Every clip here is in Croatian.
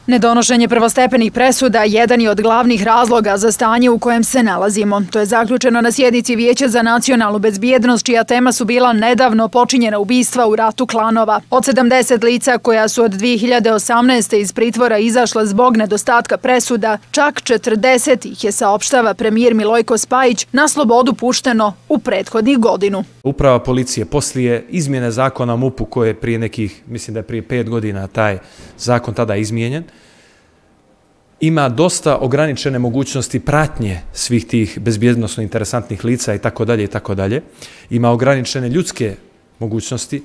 Nedonošenje prvostepenih presuda jedan je od glavnih razloga za stanje u kojem se nalazimo. To je zaključeno na sjednici Vijeća za nacionalnu bezbjednost, čija tema su bila nedavno počinjena ubistva u ratu klanova. Od 70 lica koja su od 2018. iz pritvora izašla zbog nedostatka presuda, čak 40 ih je, saopštava premijer Milojko Spajić, na slobodu pušteno u prethodnih godinu. Uprava policije poslije izmjene zakona o MUP-u koje je prije nekih, mislim da je prije 5 godina taj zakon tada izmijenjen, ima dosta ograničene mogućnosti pratnje svih tih bezbjednosno interesantnih lica i tako dalje. Ima ograničene ljudske mogućnosti,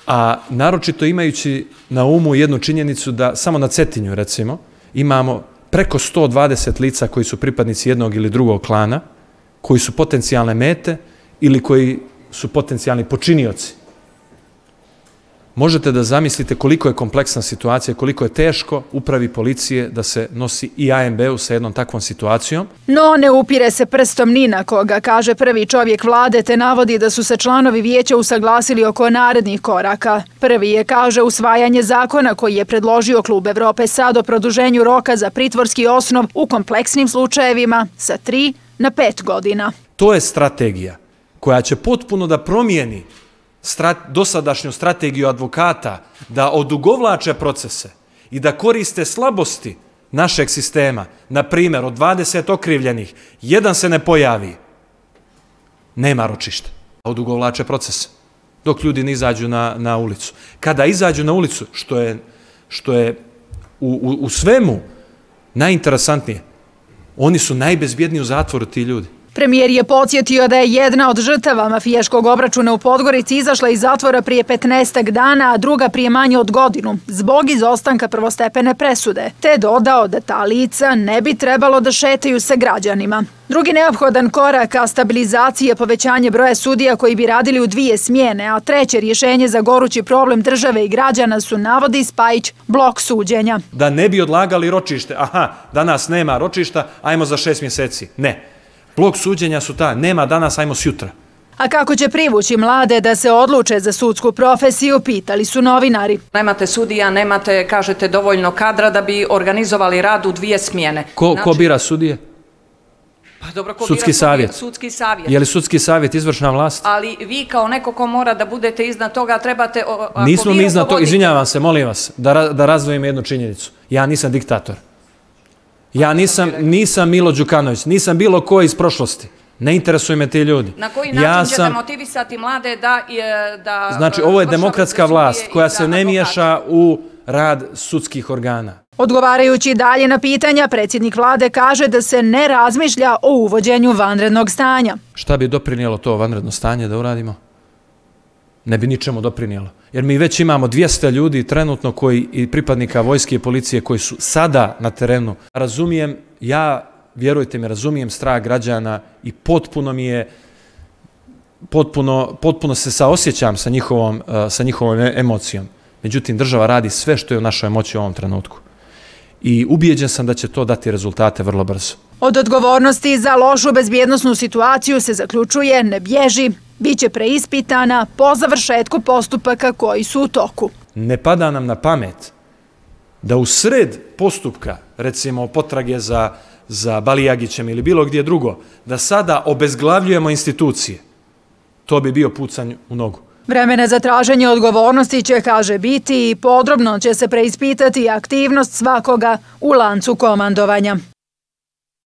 a naročito imajući na umu jednu činjenicu da samo na Cetinju, recimo, imamo preko 120 lica koji su pripadnici jednog ili drugog klana, koji su potencijalne mete ili koji su potencijalni počinioci. Možete da zamislite koliko je kompleksna situacija, koliko je teško upravi policije da se nosi i ANB-u sa jednom takvom situacijom. No, ne upire se prstom ni na koga, kaže prvi čovjek vlade, te navodi da su se članovi vijeća usaglasili oko narednih koraka. Prvi je, kaže, usvajanje zakona koji je predložio Klub Evrope SAD o produženju roka za pritvorski osnov u kompleksnim slučajevima sa 3 na 5 godina. To je strategija koja će potpuno da promijeni dosadašnju strategiju advokata da odugovlače procese i da koriste slabosti našeg sistema. Na primjer, od 20 okrivljenih, jedan se ne pojavi, nema ročišta. Odugovlače procese dok ljudi ne izađu na ulicu. Kada izađu na ulicu, što je u svemu najinteresantnije, oni su najbezbjedniji u zatvoru, ti ljudi. Premijer je podsjetio da je jedna od žrtava mafijaškog obračuna u Podgorici izašla iz zatvora prije 15 dana, a druga prije manje od godinu, zbog izostanka prvostepene presude, te dodao da ta lica ne bi trebalo da šetaju sa građanima. Drugi neophodan korak ka stabilizaciji je povećanje broja sudija koji bi radili u 2 smjene, a treće rješenje za gorući problem države i građana su, navodi Spajić, blok suđenja. Da ne bi odlagali ročište, danas nema ročišta, ajmo za 6 mjeseci. Ne. Blok suđenja su ta, nema danas, ajmo sjutra. A kako će privući mlade da se odluče za sudsku profesiju, pitali su novinari. Nemate sudija, nemate, kažete, dovoljno kadra da bi organizovali rad u 2 smjene. Ko bira sudije? Pa dobro, ko sudski bira savjet. Sudski savjet. Je li sudski savjet izvršna vlast? Ali vi kao neko ko mora da budete iznad toga, trebate... Nismo mi iznad toga, izvinjavam se, molim vas, da razdvojim jednu činjenicu. Ja nisam diktator. Ja nisam Milo Đukanović, nisam bilo ko iz prošlosti. Ne interesuju me ti ljudi. Na koji način ćete motivisati mlade da... Znači, ovo je demokratska vlast koja se ne miješa u rad sudskih organa. Odgovarajući dalje na pitanja, predsjednik vlade kaže da se ne razmišlja o uvođenju vanrednog stanja. Šta bi doprinijelo to vanredno stanje da uradimo? Ne bi ničemu doprinijelo. Jer mi već imamo 200 ljudi trenutno i pripadnika vojske i policije koji su sada na terenu. Razumijem, vjerujte mi, razumijem strah građana i potpuno se saosjećam sa njihovom emocijom. Međutim, država radi sve što je u našoj moći u ovom trenutku. I ubijeđen sam da će to dati rezultate vrlo brzo. Od odgovornosti za lošu bezbjednosnu situaciju se zaključuje ne bježi, biće preispitana po završetku postupaka koji su u toku. Ne pada nam na pamet da u sred postupka, recimo potrage za Balijagićem ili bilo gdje drugo, da sada obezglavljujemo institucije. To bi bio pucanj u nogu. Vremena za traženje odgovornosti će, kaže, biti i podrobno će se preispitati aktivnost svakoga u lancu komandovanja.